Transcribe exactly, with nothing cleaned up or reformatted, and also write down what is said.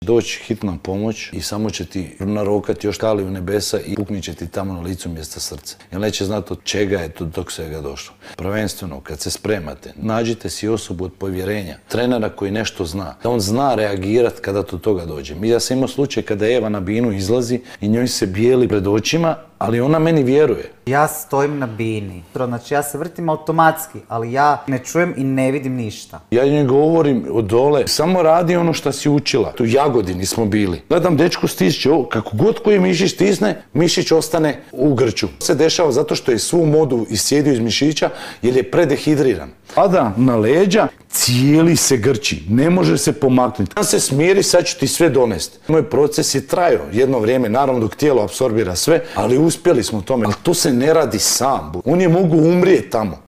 Doći hitna pomoć i samo će ti narokati još kali u nebesa i puknit će ti tamo na licu mjesta srce. Jer neće znati od čega je to dok svega došlo. Prvenstveno, kad se spremate, nađite si osobu od povjerenja, trenera koji nešto zna. Da on zna reagirati kada do toga dođe. Ja sam imao slučaj kada Eva na binu izlazi i njoj se bijeli pred očima, ali ona meni vjeruje. Ja stojim na bini. Znači ja se vrtim automatski, ali ja ne čujem i ne vidim ništa. Ja njoj govorim od dole, samo radi ono što si učila. Tu Jagodini smo bili. Gledam, dečko stišće, kako god koji mišić stisne, mišić ostane u grču. To se dešava zato što je svu modu iscijedio iz mišića jer je predehidriran. Pada na leđa, cijeli se grči, ne može se pomaknuti. On se smiri, sad ću ti sve donesti. Moj proces je trajao jedno vrijeme, naravno dok tijelo apsorbira sve, ali uspjeli smo tome. Ali to se ne radi sam. Oni mogu umrijeti tamo.